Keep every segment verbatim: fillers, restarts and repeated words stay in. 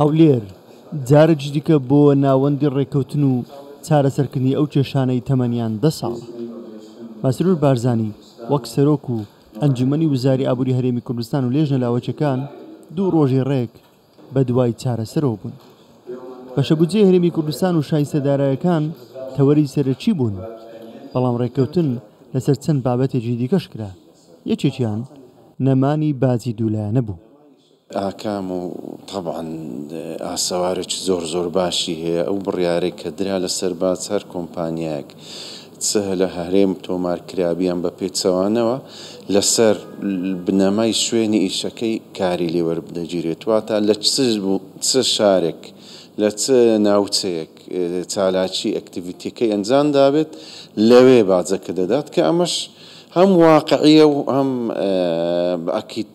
هەولێر جارێکی دیکە بۆ ناوەندی ڕێککەوتن و چارەسەرکردنی ئەو کێشانەی تەمەنیان دە ساڵە. مەسرور بارزانی وەک سەرۆک و ئەنجومەنی وزاری ئابووری هەرێمی کوردستان و لێژنە لاوەکیەکان دوو ڕۆژی ڕێک بە دوای چارەسەرەوە بوون. بەشە بودجەی هەرێمی کوردستان و شایستە دارایەکان تەوەری سەرەکی بوون، بەڵام ڕێککەوتن لەسەر چەند بابەتێکی دیکەش کرا، یەکێکیان نەمانی باجی دوولایەنە بوو. ئاکام و طبعا ئاسەوارێکی زۆر زۆر باشی هەیە. ئەو بڕیارێک کە درا لەسەر باج هەر کۆمپانیایەک چ لە هەرێم تۆمار کرابیان بە پێچەوانەوە لەسەر بنەمای شوێنی ئیشەکەی کاری لێوەربدەگیرێت، واتە لە چ شارێک لە چ ناوچەیەک چالاکی ئەکتیڤیتیەکەی ئەنجام دابێت لەوێ باجەکە دەدات، کە ئەمەش هەم واقعیە و هەم ئەکید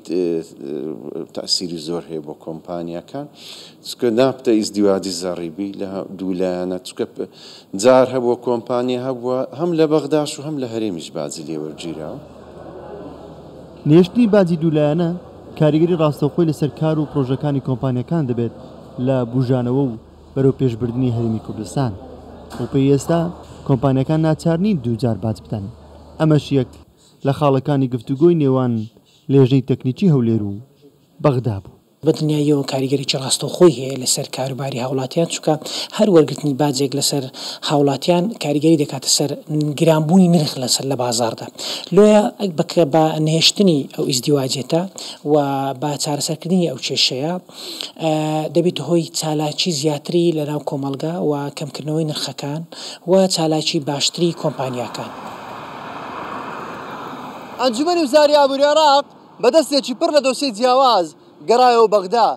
تەئسیری زۆر هەیە بۆ کۆمپانیاکان، چونکە نابتە ئیزدیواجی زەڕیبی لە دوو لایەنە، چونکە جار هەبووە کۆمپانیا هەبووە هەم لە بەغداش و هەم لە هەرێمیش باجی لێوەرگیراوە. نێشتنی باجی دوولایەنە کاریگەری ڕاستەوخۆی لەسەر کار و پرۆژەکانی کۆمپانیەکان دەبێت لە بوژانەوە و بەرەو پێشبردنی هەرێمی کوردستان. بەپێی ئێستا کۆمپانیەکان ناچار نین دووجار باج بدەن. ئەمەش یەک لە خاڵەکانی گفتوگۆی نێوان لێژنەی تەکنیکی هەولێر و بەغدا بوو. بە دڵنیاییەوە کاریگەریی ڕاستەوخۆی هەیە لەسەر کاروباری هاوڵاتیان، چونکە هەر وەرگرتنی باجێک لەسەر هاوڵاتیان کاریگەری دەکاتە سەر گرانبوونی نرخ لەسەر لە بازاڕدا. لۆیە بە نەهێشتنی ئەو ئیزدیواجێتە و بە چارەسەرکردنی ئەو کێشەیە دەبێت هۆی چالاکی زیاتری لەناو کۆمەڵگا و کەمکردنەوەی نرخەکان و چالاکی باشتری کۆمپانیاکان. ئەنجومەنی وزاری ئابووری عێراق بەدەستێکی پڕ لە دۆسیەی جیاواز گەڕایەوە بەغدا.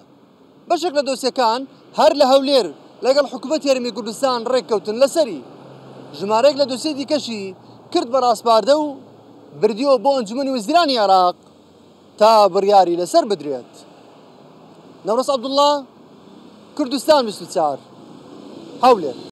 بەشێک لە دۆسیەکان هەر لە هەولێر لەگەڵ حکوومەتی هەرێمی کوردستان ڕێککەوتن لەسەری. ژمارەیەک لە دۆسیەی دیکەشی کرد بە ڕاسپاردە و بردیەوە بۆ ئەنجومەنی وەزیرانی عێراق تا بڕیاری لەسەر بدرێت. نەورەس عەبدوڵڵا، کوردستان بیست و چوار، هەولێر.